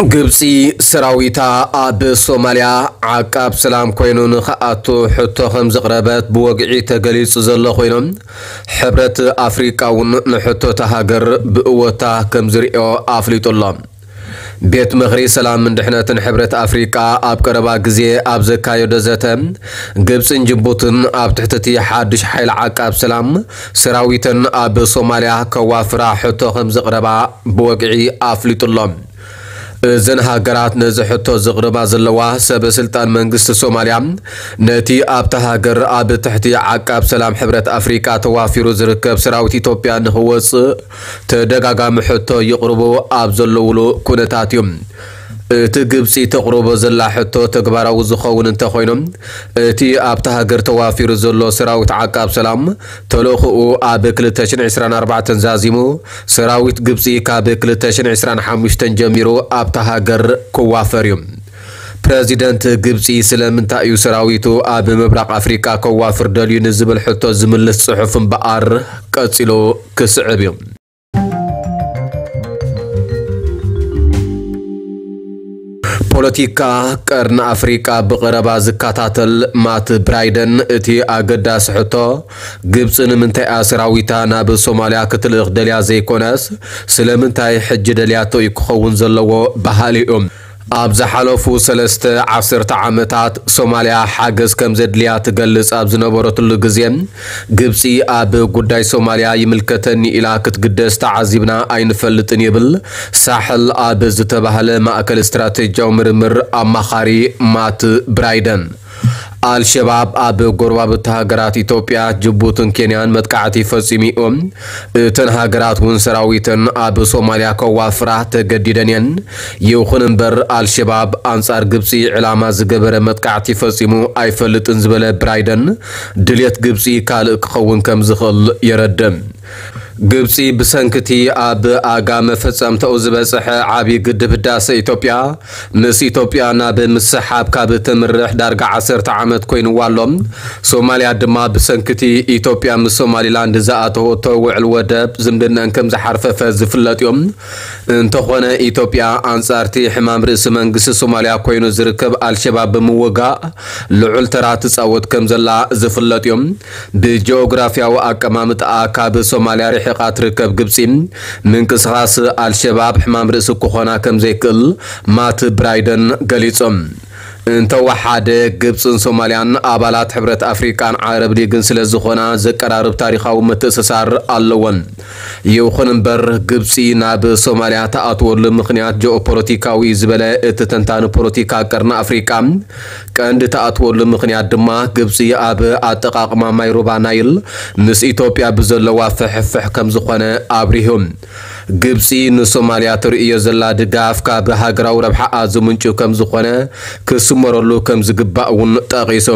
ግብጺ ሰራዊታ ኣብ ሶማልያ ዓቃብ ሰላም ኮይኑ ንኽኣቱ ሕቶ ከም ዘቕረበት ብወግዒ ተገሊጹ ዘሎ ኮይኑ፣ ሕብረት ኣፍሪቃ እውን ንሕቶ እታ ሃገር ብእወታ ከም ዝርእዮ ኣፍሊጡ ኣሎ። ቤት ምኽሪ ሰላምን ድሕነትን ሕብረት ኣፍሪቃ ኣብ ቀረባ ግዜ ኣብ ዘካየዶ ዘተ፣ ግብጽን ጅቡትን ኣብ ትሕቲ እቲ ሓድሽ ሓይሊ ዓቃብ ሰላም ሰራዊተን ኣብ ሶማልያ ከዋፍራ ሕቶ ከም ዘቕረባ ብወግዒ ኣፍሊጡ ኣሎ። እዘን ሃገራት ነዚ ሕቶ ዘቕርባ ዘለዋ፣ ሰበ ስልጣን መንግስቲ ሶማልያ ነቲ ኣብታ ሃገር ኣብ ትሕቲ ዓቃብ ሰላም ሕብረት ኣፍሪቃ ተዋፊሩ ዝርከብ ሰራዊት ኢትዮጵያ ንኽወጽእ ተደጋጋሚ ሕቶ ይቕርቡ ኣብ ዘለውሉ ኩነታት እዩ። እቲ ግብጺ ተቕርቦ ዘላ ሕቶ ተግባራዊ ዝኸውን እንተኾይኑ፣ እቲ ኣብታ ሃገር ተዋፊሩ ዘሎ ሰራዊት ዓቃብ ሰላም ተልእኾኡ ኣብ ክልተ ሽሕን ዕስራን ኣርባዕተን ዛዚሙ፣ ሰራዊት ግብጺ ካብ ክልተ ሽሕን ዕስራን ሓሙሽተን ጀሚሩ ኣብታ ሃገር ክዋፈር እዩ። ፕረዚደንት ግብጺ ስለምንታይ እዩ ሰራዊቱ ኣብ ምብራቕ ኣፍሪቃ ከዋፍር ደልዩ ንዝብል ሕቶ ዝምልስ ጽሑፍ እምበኣር ቀጺሉ ክስዕብ እዩ። ፖለቲካ ቀርኒ ኣፍሪቃ ብቐረባ ዝከታተል ማት ብራይደን፣ እቲ ኣገዳሲ ሕቶ፣ ግብጺ ንምንታይ እያ ሰራዊታ ናብ ሶማልያ ክትልእኽ ደልያ ዘይኮነስ፣ ስለምንታይ ሕጂ ደልያቶ እዩ ክኸውን ዘለዎ በሃሊ እዩ። ኣብ ዝሓለፉ ሰለስተ ዓሰርተ ዓመታት ሶማልያ ሓገዝ ከም ዘድልያ ትገልጽ ኣብ ዝነበረትሉ ግዜ፣ ግብጺ ኣብ ጉዳይ ሶማልያ ይምልከተኒ ኢላ ክትግደስ ተዓዚብና ኣይንፈልጥን ይብል ሳሕል ኣብ ዝተባህለ ማእከል ስትራቴጂያዊ ምርምር ኣማኻሪ ማት ብራይደን። ኣልሸባብ ኣብ ጎረባብቲ ሃገራት ኢትዮጵያ፣ ጅቡትን ኬንያን መጥቃዕቲ ፈጺሙ እዩ። እተን ሃገራት እውን ሰራዊተን ኣብ ሶማልያ ከዋፍራ ተገዲደን እየን። ይኹን እምበር፣ ኣልሸባብ ኣንጻር ግብጺ ዕላማ ዝገበረ መጥቃዕቲ ፈጺሙ ኣይፈልጥን ዝበለ ብራይደን፣ ድልየት ግብጺ ካልእ ክኸውን ከም ዝኽእል የረድእ። ግብጺ ብሰንክቲ ኣብ ኣጋ መፈጸምታኡ ዝበጽሐ ዓቢ ግድብ ህዳሰ ኢትዮጵያ፣ ምስ ኢትዮጵያ ናብ ምስሓብ ካብ ትምርሕ ዳርጋ ዓሰርተ ዓመት ኮይንዋ ኣሎ። ሶማልያ ድማ ብሰንክቲ ኢትዮጵያ ምስ ሶማሊላንድ ዝኣተወቶ ውዕል ወደብ ዝምድነን ከም ዝሓርፈፈ ዝፍለጥ እዩ። እንተኾነ ኢትዮጵያ ኣንጻርቲ ሕማም ርእሲ መንግስቲ ሶማልያ ኮይኑ ዝርከብ ኣልሸባብ ብምውጋእ ልዑል ተራ ትጻወት ከም ዘላ ዝፍለጥ እዩ። ብጂኦግራፊያዊ ኣቀማምጣኣ ካብ ሶማልያ ርሒቓ ትርከብ ግብጺ፣ ምንቅስቓስ ኣልሸባብ ሕማም ርእሲ ክኾና ከም ዘይክእል ማት ብራይደን ገሊጾም። እንተወሓደ፣ ግብጽን ሶማልያን ኣባላት ሕብረት ኣፍሪቃን ዓረብ ሊግን ስለ ዝኾና ዘቀራርብ ታሪኻዊ ምትእስሳር ኣለወን። ይኹን እምበር፣ ግብጺ ናብ ሶማልያ ትኣትወሉ ምኽንያት ጂኦፖለቲካዊ እዩ ዝበለ እቲ ተንታኒ ፖለቲካ ቀርኒ ኣፍሪቃ፣ ቀንዲ ትኣትወሉ ምኽንያት ድማ ግብጺ ኣብ ኣጠቓቕማ ማይ ሩባ ናይል ምስ ኢትዮጵያ ብዘለዋ ፍሕፍሕ ከም ዝኾነ ኣብሪሁ። ግብጺ ንሶማልያ ተርእዮ ዘላ ድጋፍ ካብ ሃገራዊ ረብሓኣ ዝምንጩ ከም ዝኾነ ክስመረሉ ከም ዝግባእ እውን ጠቒሱ።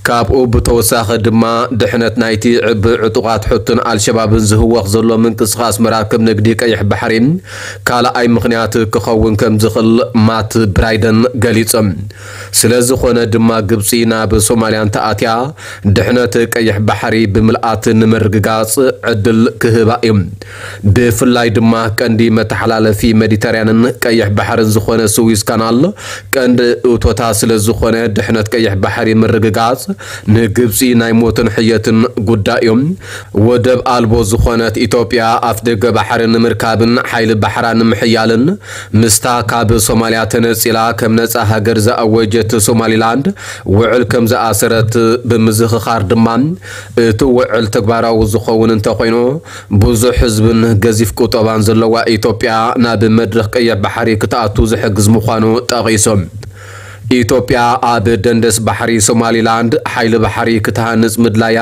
ካብኡ ብተወሳኺ ድማ ድሕነት ናይቲ ብዕጡቓት ሑትን ኣልሸባብን ዝህወኽ ዘሎ ምንቅስቓስ መራክብ ንግዲ ቀይሕ ባሕሪ ካልኣይ ምኽንያት ክኸውን ከም ዝኽእል ማት ብራይደን ገሊጾም። ስለ ዝኾነ ድማ ግብጺ ናብ ሶማልያ እንተኣትያ ድሕነት ቀይሕ ባሕሪ ብምልኣት ንምርግጋጽ ዕድል ክህባ እዩ። ብፍላይ ድማ ቀንዲ መተሓላለፊ ሜዲተርያንን ቀይሕ ባሕርን ዝኾነ ስዊዝ ካናል ቀንዲ እቶታ ስለ ዝኾነ ድሕነት ቀይሕ ባሕሪ ምርግጋጽ ንግብጺ ናይ ሞትን ሕየትን ጉዳይ እዩ። ወደብ ኣልቦ ዝኾነት ኢትዮጵያ ኣፍደገ ባሕሪ ንምርካብን ሓይሊ ባሕራ ንምሕያልን ምስታ ካብ ሶማልያ ተነጺላ ከም ነጻ ሃገር ዝኣወጀት ሶማሊላንድ ውዕል ከም ዝኣሰረት ብምዝኽኻር ድማ፣ እቲ ውዕል ተግባራዊ ዝኸውን እንተኾይኑ፣ ብዙሕ ህዝብን ገዚፍ ቁጠባን ዘለዋ ኢትዮጵያ ናብ መድረኽ ቀይሕ ባሕሪ ክትኣቱ ዝሕግዝ ምዃኑ ጠቒሶም። ኢትዮጵያ ኣብ ደንደስ ባሕሪ ሶማሊላንድ ሓይሊ ባሕሪ ክትሃንጽ ምድላያ፣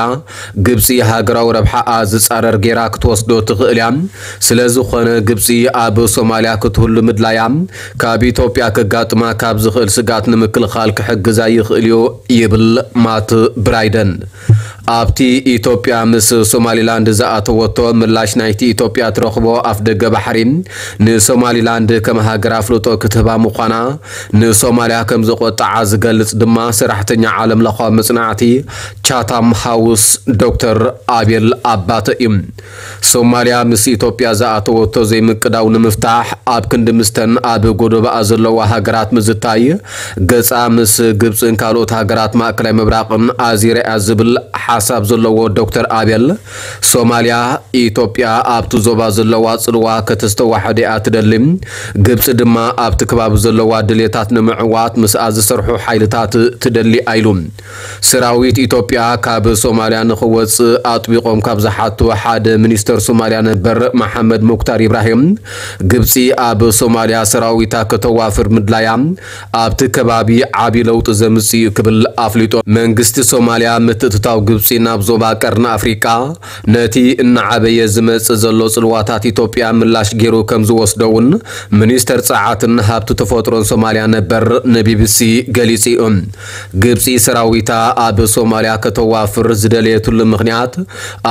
ግብጺ ሃገራዊ ረብሓኣ ዝጻረር ጌራ ክትወስዶ ትኽእል እያ። ስለ ዝኾነ፣ ግብጺ ኣብ ሶማልያ ክትህሉ ምድላያ፣ ካብ ኢትዮጵያ ከጋጥማ ካብ ዝኽእል ስግኣት ንምክልኻል ክሕግዛ ይኽእል እዩ፣ ይብል ማት ብራይደን። ኣብቲ ኢትዮጵያ ምስ ሶማሊላንድ ዝኣተወቶ ምላሽ፣ ናይቲ ኢትዮጵያ ትረኽቦ ኣፍደገ ባሕሪ ንሶማሊላንድ ከም ሃገር ኣፍልጦ ክትህባ ምዃና ንሶማልያ ከም ዘቆጠዓ ዝገልጽ ድማ ሰራሕተኛ ዓለም ለኻዊ መጽናዕቲ ቻታም ሃውስ ዶክተር ኣቤል ኣባተ እዩ። ሶማልያ ምስ ኢትዮጵያ ዝኣተወቶ ዘይምቅዳው ንምፍታሕ፣ ኣብ ክንዲ ምስተን ኣብ ጎደባኣ ዘለዋ ሃገራት ምዝታይ፣ ገጻ ምስ ግብጽን ካልኦት ሃገራት ማእከላይ ምብራቕን ኣዚራ እያ ዝብል ሓሳብ ዘለዎ ዶክተር ኣቤል፣ ሶማልያ ኢትዮጵያ ኣብቲ ዞባ ዘለዋ ጽልዋ ከተስተዋሕድ እያ ትደሊ። ግብጺ ድማ ኣብቲ ከባቢ ዘለዋ ድሌታት ንምዕዋት ምስኣ ዝሰርሑ ሓይልታት ትደሊ ኣይሉ። ሰራዊት ኢትዮጵያ ካብ ሶማልያ ንኽወጽእ ኣጥቢቖም ካብ ዝሓቱ ሓደ ሚኒስተር ሶማልያ ነበር መሓመድ ሙክታር ኢብራሂም፣ ግብጺ ኣብ ሶማልያ ሰራዊታ ከተዋፍር ምድላያ ኣብቲ ከባቢ ዓቢ ለውጢ ዘምጽእ እዩ ክብል ኣፍሊጡ። መንግስቲ ሶማልያ ምትእትታው ግብጺ ናብ ዞባ ቀርኒ ኣፍሪቃ ነቲ እናዓበየ ዝመጽእ ዘሎ ጽልዋታት ኢትዮጵያ ምላሽ ገይሩ ከም ዝወስዶ እውን ሚኒስተር ጸዓትን ሃብቲ ተፈጥሮን ሶማልያ ነበር ንቢቢሲ ገሊጹ እዩ። ግብጺ ሰራዊታ ኣብ ሶማልያ ከተዋፍር ዝደለየትሉ ምኽንያት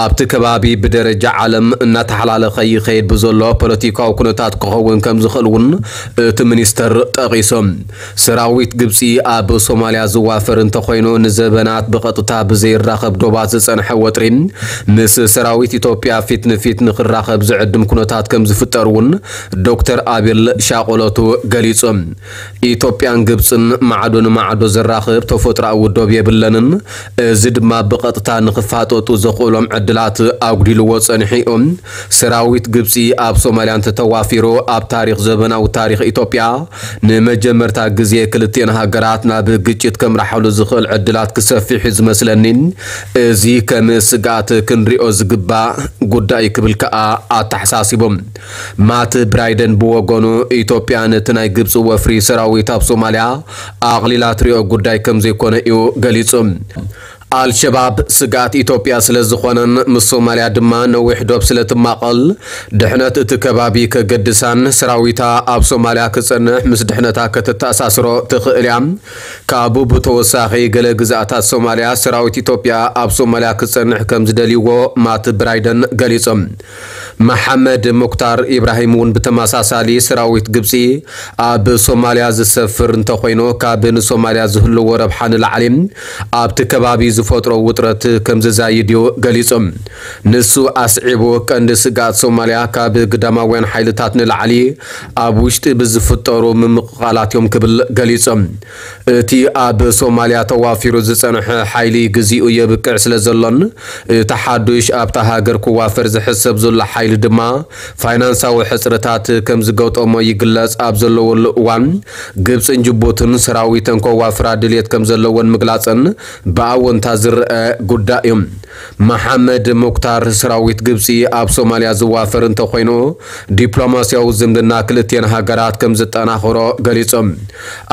ኣብቲ ከባቢ ብደረጃ ዓለም እናተሓላለኸ ይኸይድ ብዘሎ ፖለቲካዊ ኩነታት ክኸውን ከም ዝኽእል እውን እቲ ሚኒስተር ጠቒሱ። ሰራዊት ግብጺ ኣብ ሶማልያ ዝዋፈር እንተኾይኑ፣ ንዘበናት ብቐጥታ ብዘይራኸብ ዶባት ዝጸንሐ ወጥሪ ምስ ሰራዊት ኢትዮጵያ ፊት ንፊት ንኽራኸብ ዝዕድም ኩነታት ከም ዝፍጠር እውን ዶክተር ኣቤል ሻቆሎቱ ገሊጹ። ኢትዮጵያን ግብጽን ማዕዶ ንማዕዶ ዘራኽብ ተፈጥሮኣዊ ዶብ የብለንን። እዚ ድማ ብቐጥታ ንኽፋጠጡ ዘኽእሎም ዕድላት ኣጉዲልዎ ጸኒሑ እዩ። ሰራዊት ግብጺ ኣብ ሶማልያ እንተተዋፊሩ፣ ኣብ ታሪኽ፣ ዘበናዊ ታሪኽ ኢትዮጵያ፣ ንመጀመርታ ግዜ ክልቲኤን ሃገራት ናብ ግጭት ከምርሓሉ ዝኽእል ዕድላት ክሰፍሕ እዩ ዝመስለኒ። እዚ ከም ስግኣት ክንሪኦ ዝግባእ ጉዳይ ክብል ከኣ ኣተሓሳሲቡ። ማት ብራይደን ብወገኑ፣ ኢትዮጵያ ነቲ ናይ ግብጺ ወፍሪ ሰራዊት ኣብ ሶማልያ ኣቕሊላ ትሪኦ ጉዳይ ከም ዘይኮነ እዩ ገሊጹ። ኣልሸባብ ስግኣት ኢትዮጵያ ስለ ዝኾነን ምስ ሶማልያ ድማ ነዊሕ ዶብ ስለ ትማቐል፣ ድሕነት እቲ ከባቢ ከገድሳን ሰራዊታ ኣብ ሶማልያ ክጸንሕ ምስ ድሕነታ ከተተኣሳስሮ ትኽእል እያ። ካብኡ ብተወሳኺ፣ ገለ ግዝኣታት ሶማልያ ሰራዊት ኢትዮጵያ ኣብ ሶማልያ ክጸንሕ ከም ዝደልይዎ ማት ብራይደን ገሊጾም። መሓመድ ሙክታር ኢብራሂም እውን ብተመሳሳሊ፣ ሰራዊት ግብጺ ኣብ ሶማልያ ዝሰፍር እንተኾይኑ፣ ካብ ንሶማልያ ዝህልዎ ረብሓ ንላዕሊ ኣብቲ ከባቢ ዝፈጥሮ ውጥረት ከም ዘዛይድ እዩ ገሊጹ። ንሱ ኣስዒቡ፣ ቀንዲ ስግኣት ሶማልያ ካብ ግዳማውያን ሓይልታት ንላዕሊ ኣብ ውሽጢ ብዝፍጠሩ ምምቕቓላት እዮም ክብል ገሊጹ። እቲ ኣብ ሶማልያ ተዋፊሩ ዝጸንሐ ሓይሊ ግዜኡ የብቅዕ ስለ ዘሎን፣ እቲ ሓዱሽ ኣብታ ሃገር ክዋፈር ዝሕሰብ ዘሎ ሓይሊ ድማ ፋይናንሳዊ ሕጽረታት ከም ዝገጠሞ ይግለጽ ኣብ ዘለወሉ እዋን፣ ግብጽን ጅቡትን ሰራዊተን ከዋፍራ ድልየት ከም ዘለወን ምግላጸን ብኣወንታ ዝረአ ጉዳይ እዩ። መሓመድ ሙክታር፣ ሰራዊት ግብጺ ኣብ ሶማልያ ዝዋፈር እንተኾይኑ፣ ዲፕሎማስያዊ ዝምድና ክልቲኤን ሃገራት ከም ዝጠናኽሮ ገሊጾም።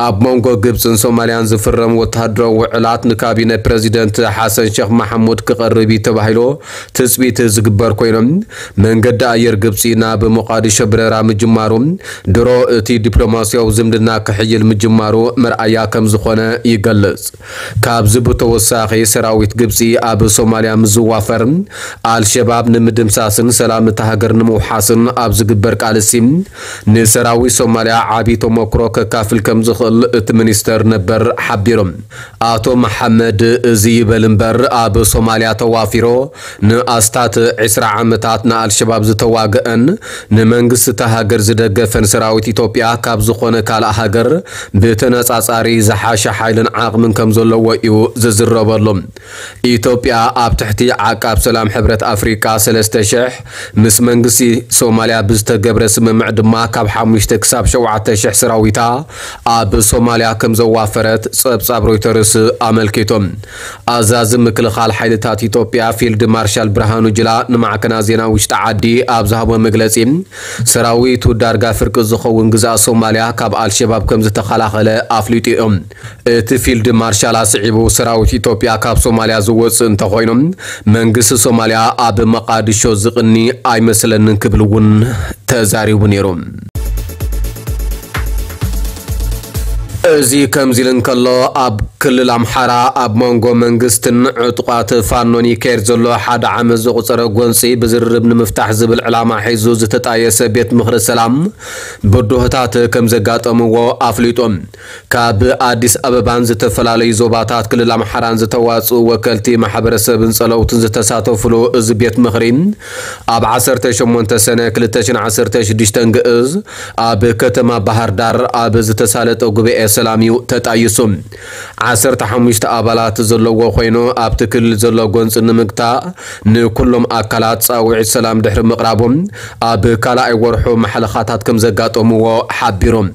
ኣብ መንጎ ግብጽን ሶማልያን ዝፍረም ወተሃደራዊ ውዕላት ንካቢነ ፕረዚደንት ሓሰን ሸኽ ማሕሙድ ክቐርብ እዩ ተባሂሉ ትጽቢት ዝግበር ኮይኖም፣ መንገዲ ኣየር ግብጺ ናብ ሞቃዲሾ በረራ ምጅማሩ፣ ድሮ እቲ ዲፕሎማስያዊ ዝምድና ክሕይል ምጅማሩ መርኣያ ከም ዝኾነ ይገልጽ። ካብዚ ብተወሳኺ፣ ሰራዊት ግብጺ ኣብ ሶማልያ ምስ ዝዋፈር፣ ኣልሸባብ ንምድምሳስን ሰላም እታ ሃገር ንምውሓስን ኣብ ዝግበር ቃልሲ፣ ንሰራዊት ሶማልያ ዓቢ ተመክሮ ከካፍል ከም ዝኽእል እቲ ሚኒስተር ነበር ሓቢሩ። ኣቶ መሓመድ፣ እዚ ይበል እምበር፣ ኣብ ሶማልያ ተዋፊሩ ንኣስታት ዕስራ ዓመታት ንኣልሸባብ ዝተዋግአን ንመንግስቲ እታ ሃገር ዝደገፈን ሰራዊት ኢትዮጵያ፣ ካብ ዝኾነ ካልእ ሃገር ብተነጻጻሪ ዝሓሸ ሓይልን ዓቕምን ከም ዘለዎ እዩ ዝዝረበሉ። ኢትዮጵያ ኣብ ትሕቲ ዓቃብ ሰላም ሕብረት ኣፍሪቃ ሰለስተ ሽሕ ምስ መንግስቲ ሶማልያ ብዝተገብረ ስምምዕ ድማ፣ ካብ ሓሙሽተ ክሳብ ሸውዓተ ሽሕ ሰራዊታ ኣብ ሶማልያ ከም ዘዋፈረት ጸብጻብ ሮይተርስ ኣመልኪቱ። ኣዛዚ ምክልኻል ሓይልታት ኢትዮጵያ ፊልድ ማርሻል ብርሃኑ ጅላ ንማዕከናት ዜና ውሽጢ ዓዲ ኣብ ዝሃቦ መግለጺ፣ ሰራዊቱ ዳርጋ ፍርቂ ዝኸውን ግዝኣት ሶማልያ ካብ ኣልሸባብ ከም ዝተኸላኸለ ኣፍሊጡ እዩ። እቲ ፊልድ ማርሻል ኣስዒቡ፣ ሰራዊት ኢትዮጵያ ካብ ሶማልያ ዝወጽእ እንተኾይኑ፣ መንግስቲ ሶማልያ ኣብ መቓድሾ ዝቕኒ ኣይመስለንን ክብል እውን ተዛሪቡ ነይሩ። እዚ ከምዚ ኢሉ እንከሎ፣ ኣብ ክልል ኣምሓራ ኣብ መንጎ መንግስትን ዕጡቓት ፋኖን ይካየድ ዘሎ ሓደ ዓመት ዘቑጸረ ጎንጺ ብዝርርብ ንምፍታሕ ዝብል ዕላማ ሒዙ ዝተጣየሰ ቤት ምኽሪ ሰላም ብድሆታት ከም ዘጋጠምዎ ኣፍሊጡ። ካብ ኣዲስ ኣበባን ዝተፈላለዩ ዞባታት ክልል ኣምሓራን ዝተዋጽኡ ወከልቲ ማሕበረሰብን ጸለውትን ዝተሳተፉሉ እዚ ቤት ምኽሪ፣ ኣብ ዓሰርተ ሸሞንተ ሰነ ክልተ ሽሕን ዓሰርተ ሽዱሽተን ግእዝ ኣብ ከተማ ባህር ዳር ኣብ ዝተሳለጠ ጉባኤ ሰላም እዩ ተጣይሱ። ዓሰርተ ሓሙሽተ ኣባላት ዘለዎ ኮይኑ፣ ኣብቲ ክልል ዘሎ ጎንፂ ንምግታእ ንኩሎም ኣካላት ጻውዒት ሰላም ድሕሪ ምቕራቦም፣ ኣብ ካልኣይ ወርሑ ማሕለኻታት ከም ዘጋጠምዎ ሓቢሮም።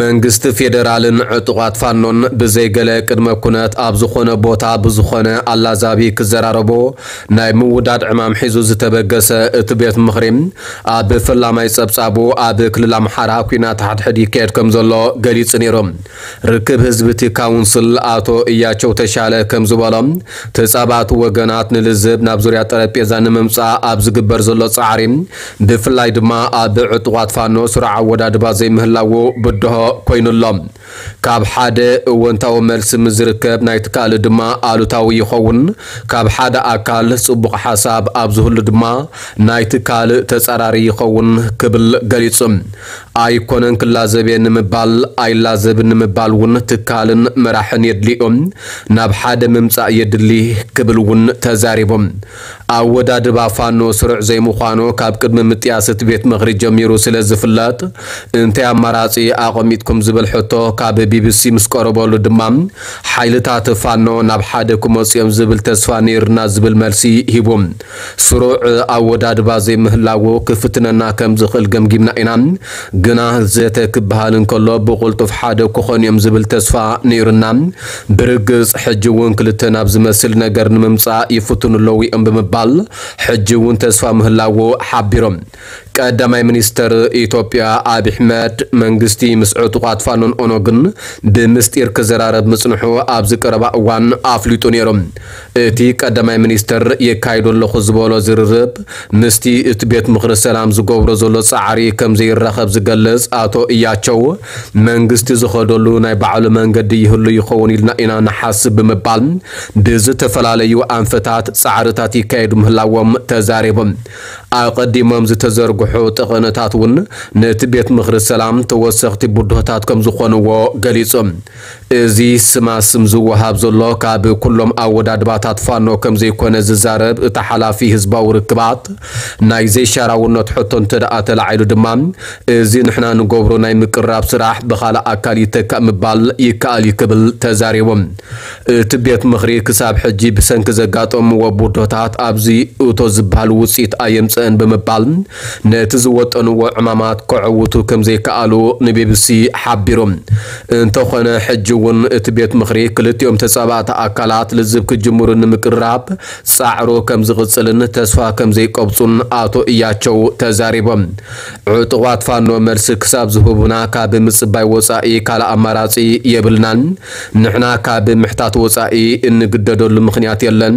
መንግስቲ ፌደራልን ዕጡቓት ፋኖን ብዘይገለ ቅድመ ኩነት ኣብ ዝኾነ ቦታ ብዝኾነ ኣላዛቢ ክዘራረቦ ናይ ምውዳድ ዕማም ሒዙ ዝተበገሰ እቲ ቤት ምኽሪ፣ ኣብ ፈላማይ ጸብጻቡ ኣብ ክልል ኣምሓራ ኲናት ሓድሕድ ይካየድ ከም ዘሎ ገሊጹ ነይሩ። ርክብ ህዝቢ እቲ ካውንስል ኣቶ እያቸው ተሻለ ከም ዝበሎ፣ ተጻባእቲ ወገናት ንልዝብ ናብ ዙርያ ጠረጴዛ ንምምጻእ ኣብ ዝግበር ዘሎ ጻዕሪ፣ ብፍላይ ድማ ኣብ ዕጡቓት ፋኖ ስሩዕ ኣወዳድባ ዘይምህላዉ ብድሆ ኮይኑ ኣሎ። ካብ ሓደ እወንታዊ መልሲ ምስ ዝርከብ፣ ናይቲ ካልእ ድማ ኣሉታዊ ይኸውን። ካብ ሓደ ኣካል ጽቡቕ ሓሳብ ኣብ ዝህሉ ድማ፣ ናይቲ ካልእ ተጻራሪ ይኸውን ክብል ገሊጹ። ኣይኮነን ክላዘብ እየ ንምባል፣ ኣይላዘብን ንምባል እውን ትካልን መራሕን የድልዮም፣ ናብ ሓደ ምምጻእ የድሊ ክብል እውን ተዛሪቦም። ኣወዳድባ ፋኖ ስሩዕ ዘይምዃኑ ካብ ቅድሚ ምጥያስ እቲ ቤት ምኽሪ ጀሚሩ ስለ ዝፍለጥ፣ እንታይ ኣማራጺ ኣቐሚጥኩም ዝብል ሕቶ ካብ ቢቢሲ ምስ ቀረበሉ ድማ፣ ሓይልታት ፋኖ ናብ ሓደ ክመጹ እዮም ዝብል ተስፋ ነይርና ዝብል መልሲ ሂቡ። ስሩዕ ኣወዳድባ ዘይምህላዉ ክፍትነና ከም ዝኽእል ገምጊምና ኢና፣ ግና ዘተ ክበሃል እንከሎ ብቕልጡፍ ሓደ ክኾኑ እዮም ዝብል ተስፋ ነይሩና። ብርግጽ ሕጂ እውን ክልተ ናብ ዝመስል ነገር ንምምጻእ ይፍትኑ ኣለዉ እዮም ብምባል፣ ሕጂ እውን ተስፋ ምህላዉ ሓቢሮም። ቀዳማይ ሚኒስተር ኢትዮጵያ ኣብይ ኣሕመድ፣ መንግስቲ ምስ ዕጡቓት ፋኖን ኦነግን ብምስጢር ክዘራረብ ምጽንሑ ኣብዚ ቀረባ እዋን ኣፍሊጡ ነይሩ። እቲ ቀዳማይ ሚኒስተር የካይዶ ኣለኹ ዝበሎ ዝርርብ ምስቲ እቲ ቤት ምኽሪ ሰላም ዝገብሮ ዘሎ ጻዕሪ ከም ዘይራኸብ ዝገልጽ ኣቶ እያቸው፣ መንግስቲ ዝኸደሉ ናይ ባዕሉ መንገዲ ይህሉ ይኸውን ኢልና ኢና ንሓስብ ብምባል፣ ብዝተፈላለዩ ኣንፈታት ጻዕርታት ይካየዱ ምህላዎም ተዛሪቦም። ኣቐዲሞም ዝተዘርግሑ ጠቐነታት እውን ነቲ ቤት ምኽሪ ሰላም ተወሰኽቲ ብድሆታት ከም ዝኾንዎ ገሊጹ። እዚ ስማ ስም ዝወሃብ ዘሎ ካብ ኩሎም ኣወዳድባታት ፋኖ ከም ዘይኮነ ዝዛረብ እቲ ሓላፊ ህዝባዊ ርክባት፣ ናይ ዘይሻራውነት ሕቶ እንተ ደኣ ተላዒሉ ድማ፣ እዚ ንሕና ንገብሮ ናይ ምቅራብ ስራሕ ብኻልእ ኣካል ይተካእ ምባል ይከኣል እዩ ክብል ተዛሪቡ። እቲ ቤት ምኽሪ ክሳብ ሕጂ ብሰንኪ ዘጋጠምዎ ብድሆታት ኣብዚ እቶ ዝበሃል ውፅኢት ኣየምፀአን ብምባል፣ ነቲ ዝወጠንዎ ዕማማት ከዕውቱ ከም ዘይከኣሉ ንቢቢሲ ሓቢሩ። እንተኾነ፣ ሕጂ እውን እቲ ቤት ምኽሪ ክልቲኦም ተጻባእቲ ኣካላት ልዝብ ክጅምሩ ንምቅርራብ ጻዕሩ ከም ዝቕጽልን ተስፋ ከም ዘይቀብጹን ኣቶ እያቸው ተዛሪቦም። ዕጡቓት ፋኖ መልሲ ክሳብ ዝህቡና ካብ ምጽባይ ወጻኢ ካልእ ኣማራጺ የብልናን። ንሕና ካብ ምሕታት ወጻኢ እንግደደሉ ምኽንያት የለን።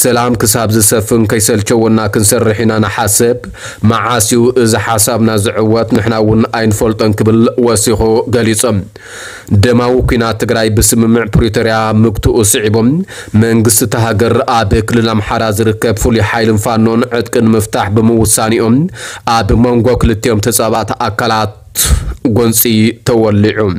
ሰላም ክሳብ ዝሰፍን ከይሰልቸወና ክንሰርሕ ኢና ንሓስብ። መዓስ እዩ እዚ ሓሳብና ዝዕወት? ንሕና እውን ኣይንፈልጦን ክብል ወሲኹ ገሊጹ። ደማዊ ኲናት ትግራይ ብስምምዕ ፕሪቶርያ ምግትኡ ስዒቦም፣ መንግስቲ እታ ሃገር ኣብ ክልል ኣምሓራ ዝርከብ ፍሉይ ሓይልን ፋኖን ዕጥቂ ንምፍታሕ ብምውሳኔኦም፣ ኣብ መንጎ ክልቲኦም ተጻባእቲ ኣካላት ጎንጺ ተወሊዑ።